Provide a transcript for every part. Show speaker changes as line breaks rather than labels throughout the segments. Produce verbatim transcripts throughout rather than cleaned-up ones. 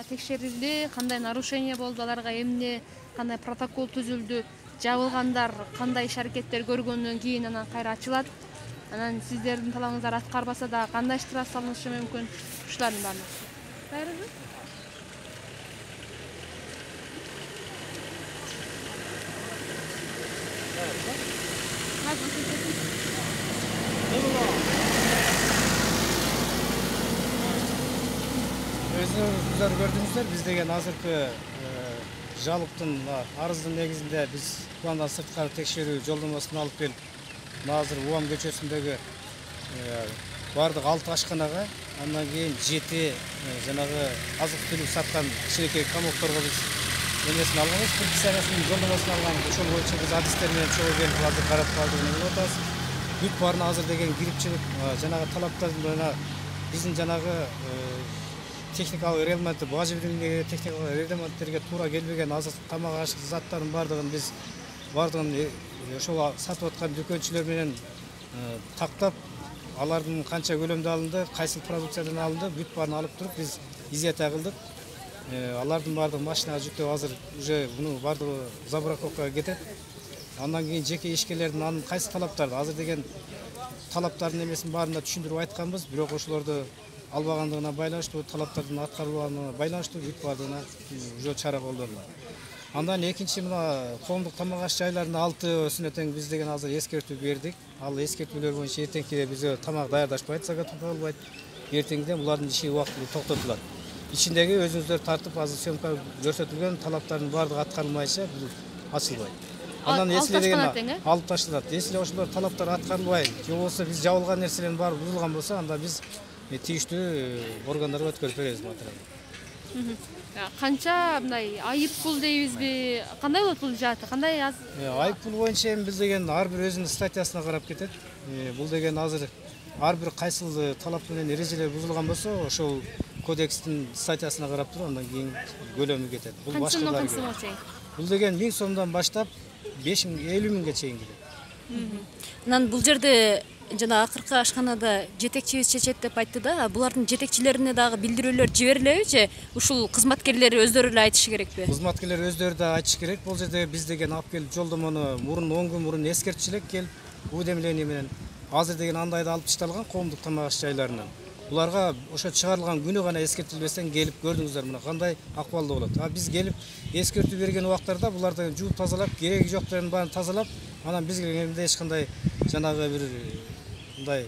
Текшерилди, кандай нарушение болду, аларга эмне, кандай протокол түзүлдү, жабылгандар кандай иш аракеттер көргөндөн кийин анан кайра ачылат. Анан сиздердин талабыңыздар аткарбаса да кандай штраф салынышы мүмкүн? Ушулардын баардыгы. Байрыбы?
Өзүңүздөр көрдүңүздөр, биз деген азыркы жалыктын арыздын негизинде биз пландан сырткары текшерүү жолдомосун алып келип, азыр Уам көчөсүндөгү бардык алты ашканага, андан кийин жети жанагы азык-түлүк саткан кичинекей комокторго биз эмесин алганбыз, предписаниясынын жолдомосун алганбыз. Ошол боюнча биз адистер менен чогуу келип азыр карап калдык деп атабыз. Бүт баарына азыр деген кирипчилик жанагы талаптарына биздин жанагы техникалык регламентти, бажы техникалык регламенттерге туура келбеген азык тамак ашык заттардын бардыгын биз бардыгын ошол сатып аткан дүкөнчүлөр менен тактап, алардын канча көлөмдө алынды, кайсы продукциядан алынды, бүт баарын алып туруп биз изъятия кылдык. Алардын бардыгы машинага жүктөп азыр уже буну бардыгы забраковкага кетет. Андан кийин жеке ишкерлердин анын кайсы талаптарды азыр деген талаптардын эмесин баарына түшүндүрүп айтканбыз, бирок ошолорду албагандыгына байланыштуу, талаптардын аткарылбаганына байланыштуу бүт баардыгына уже чара колдонулат. Андан экинчи мына коомдук тамак аш жайларынын алтысына тең биз деген азыр эскертүү бердик. Ал эскертүүлөр боюнча эртеңкиде биз тамак даярдашпайт, заготовка кылбайт. Эртеңден булардын иши убактылуу токтотулат. Ичиндеги өзүңүздөр тартып азыр съемка көрсөтүлгөн талаптардын баардыгы аткарылмайча бул ачылбайт. Андан эсиле деген алып ташталат. Эсиле ошолор талаптар аткарылбай, же болбосо биз жабылган нерселердин баары бузулган болсо, анда биз тийиштүү органдарга өткөрүп беребиз материалды.
Канча мындай айып пул дейбизби? Кандай болот бул жааты? Кандай аз?
Айып пул боюнча эми биз деген ар бир өзүнүн статьясына карап кетет. Бул деген азыр ар бир кайсыл талап менен эрежелер бузулган болсо, ошол кодекстин статьясына карап туруп, андан кийин көлөмү кетет. Бул башкалар. Бул деген миң сомдон баштап беш миң, элүү миңге чейин келет.
Анан бул жерде жана акыркы ашканада жетекчибиз чечет деп айтты да, булардын жетекчилерине дагы билдирүүлөр жиберилебичи? Ушул кызматкерлери өздөрү эле айтышы керекпи?
Кызматкерлер өздөрү да айтышы керек. Бул жерде биз деген алып келип жолдомону мурун он күн мурун эскертчү элек келип, уведомление менен азыр деген андайды алып ташталган коомдук тамак аш жайларынан. Буларга ошо чыгарылган күнү гана эскертилбестен келип көрдүңүздөр мына кандай акыбалда болот. А биз келип эскертүү берген убактарда буларды жууп тазалап, кереги жокторун баарын тазалап, анан биз келгенде эч кандай жанагы бир мындай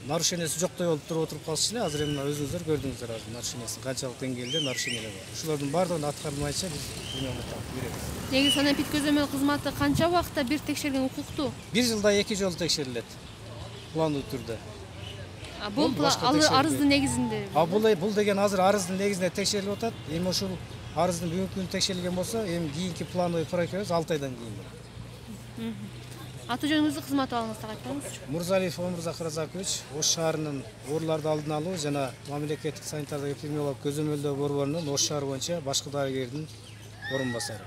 нарушениясы жоктой болуп туруп отуруп калышчу эле. Азыр эми өзүңүздөр көрдүңүздөр азыр нарушениясы канчалык деңгээлде нарушениялар бар. Ушулардын баардыгын аткарылмайча биз күнөөнү таап беребиз.
Негизи санаипит көзөмөл кызматы канча убакытта бир текшерген укуктуу?
Бир жылда эки жолу текшерилет. Пландуу түрдө.
А бул арыздын негизинде?
А бул бул деген азыр арыздын негизинде текшерилип атат. Эми ушул арыздын бүгүнкү күнү текшерилген болсо, эми кийинки плановый проект алты айдан кийин болот.
Аты жөнүңүздү, кызмат абалыңызды айтсаңызчы.
Мурзалиев Омурзак Разакович, Ош шаарынын ооруларды алдын алуу жана мамлекеттик санитардык эпидемиологиялык көзөмөлдөө борборунун Ош шаары боюнча башкы дарыгердин орун басары.